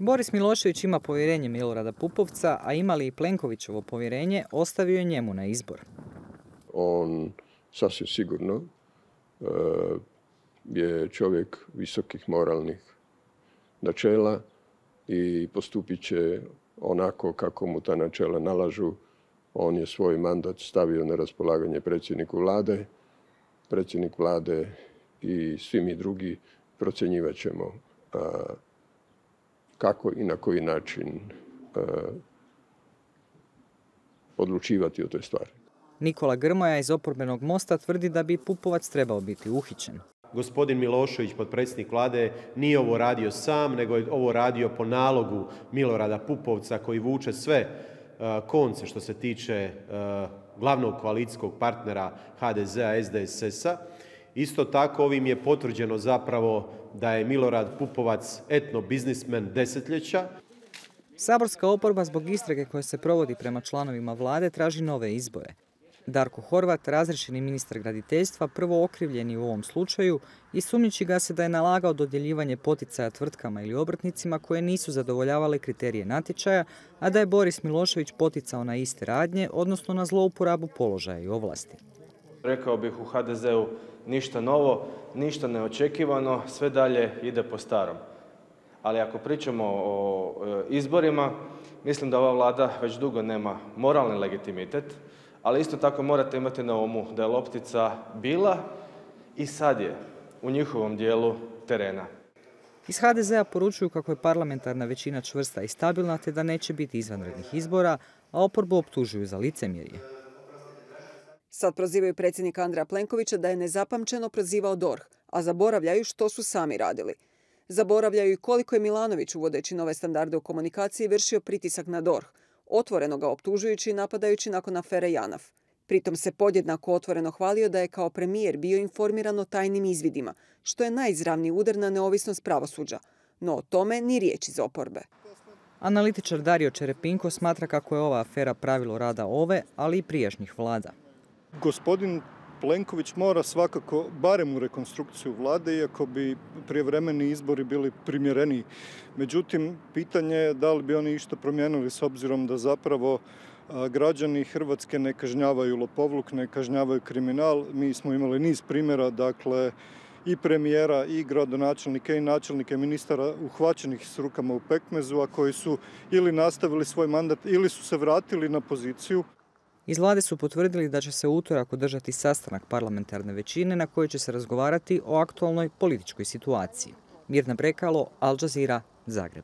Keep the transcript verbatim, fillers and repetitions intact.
Boris Milošević ima povjerenje Milorada Pupovca, a ima li i Plenkovićevo povjerenje, ostavio je njemu na izbor. On sasvim sigurno je čovjek visokih moralnih načela i postupit će onako kako mu ta načela nalažu. On je svoj mandat stavio na raspolaganje predsjedniku vlade. Predsjednik vlade i svi mi drugi procjenjivat ćemo kako i na koji način odlučivati o toj stvari. Nikola Grmoja iz oporbenog Mosta tvrdi da bi Pupovac trebao biti uhićen. Gospodin Milošević, potpredsjednik vlade, nije ovo radio sam, nego je ovo radio po nalogu Milorada Pupovca koji vuče sve konce što se tiče glavnog koalicijskog partnera ha de zea, es de es es-a. Isto tako ovim je potvrđeno zapravo da je Milorad Pupovac etno biznismen desetljeća. Saborska oporba zbog istrage koja se provodi prema članovima vlade traži nove izbore. Darko Horvat, razriješeni ministar graditeljstva, prvo okrivljeni u ovom slučaju i sumnjiči ga se da je nalagao dodjeljivanje poticaja tvrtkama ili obrtnicima koje nisu zadovoljavale kriterije natječaja, a da je Boris Milošević poticao na iste radnje, odnosno na zlouporabu položaja i ovlasti. Rekao bih u ha de zeu ništa novo, ništa neočekivano, sve dalje ide po starom. Ali ako pričamo o izborima, mislim da ova vlada već dugo nema moralni legitimitet, ali isto tako morate imati na umu da je loptica bila i sad je u njihovom dijelu terena. Iz ha de zea poručuju kako je parlamentarna većina čvrsta i stabilna te da neće biti izvanrednih izbora, a oporbu optužuju za licemjerje. Sad prozivaju predsjednika Andreja Plenkovića da je nezapamćeno prozivao D O R H, a zaboravljaju što su sami radili. Zaboravljaju i koliko je Milanović, uvodeći nove standarde u komunikaciji, vršio pritisak na D O R H, otvoreno ga optužujući i napadajući nakon afere Janaf. Pritom se podjednako otvoreno hvalio da je kao premijer bio informiran o tajnim izvidima, što je najizravniji udar na neovisnost pravosuđa. No o tome ni riječ iz oporbe. Analitičar Dario Čerepinko smatra kako je ova afera pravilo rada ove, ali i prijašnjih vlada. Gospodin Plenković mora svakako barem u rekonstrukciju vlade, iako bi prijevremeni izbori bili primjereniji. Međutim, pitanje je da li bi oni išta promijenili s obzirom da zapravo građani Hrvatske ne kažnjavaju lopovluk, ne kažnjavaju kriminal. Mi smo imali niz primjera, dakle, i premijera, i gradonačelnike, i načelnike ministara uhvaćenih s rukama u pekmezu, a koji su ili nastavili svoj mandat ili su se vratili na poziciju. Iz vlade su potvrdili da će se u utorak održati sastanak parlamentarne većine na kojoj će se razgovarati o aktualnoj političkoj situaciji. Mirna Brekalo, Al Jazeera, Zagreb.